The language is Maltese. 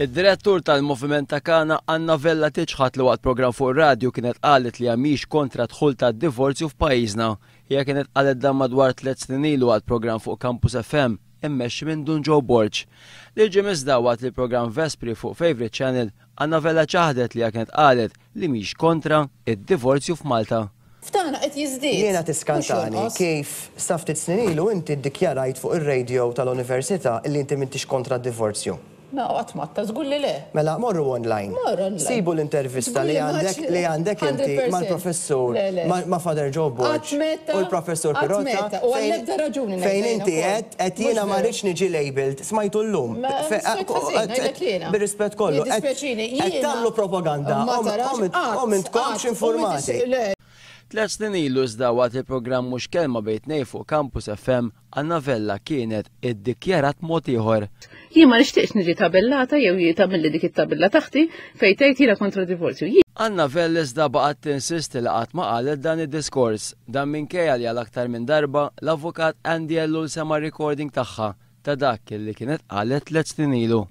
Id-direttur tal-Moviment ta' Kana, Anna Vella tiċħad li waqt programm fuq ir-radju kienet qalet li hija mhix kontra d-dħul tad-divorzju f'pajjiżna. Hija kienet qalet dan madwar tlett snin ilu waqt programm fuq Campus FM immexxi minn Dun Joe Borg. Li ġie iżda waqt li l-programm Vespri fuq Favourite Channel, Anna Vella ċaħdet li hija kienet qalet li mhix kontra d-divorzju f'Malta. F'tagħna qed jiżdied. Jiena Mhux tiskantani jonqos. kif sa ftit snin ilu inti ddikjarajt fuq ir-radio tal-Università illi inti m'intix kontra d-divorzju. Ma qatt m'għadtha, żgur li le. Mela morru online. Mor online. Sibu l-intervista Żgur li li għandek m'għadx li għandek inti 100%. mal-professur Le, le. ma' Father Joe Borg Qatt meta, u l-professur qatt Pirotta meta, u fejn għall-ebda raġuni ngħidha fejn jiena inti wkoll. għedt qed Mhux jiena ma veru. rridx niġi labelled, smajtu llum. Ma smajt ħażin, ngħidlek jiena. Bir-rispett kollu, qed Jiddispjaċini, qed jiena tagħmlu propaganda ma u tarax u qatt, m'intkomx qatt, u m'intix informati. le. Tlett snin ilu iżda waqt il-programm Mhux Kelma Bejn Tnejn fuq Campus FM, Anna Vella kienet iddikjarat mod ieħor. Jien ma nixtieqx niġi tabellata jew tagħmilli dik it-tabella taħti fejn tgħid jiena kontra divorzju. Anna Vella iżda baqgħet tinsisti li qatt ma qalet dan id-diskors. Dan minkejja li għal aktar minn darba l-avukat Andy Ellul sema' recording tagħha ta' dak li kienet qalet tlett snin ilu.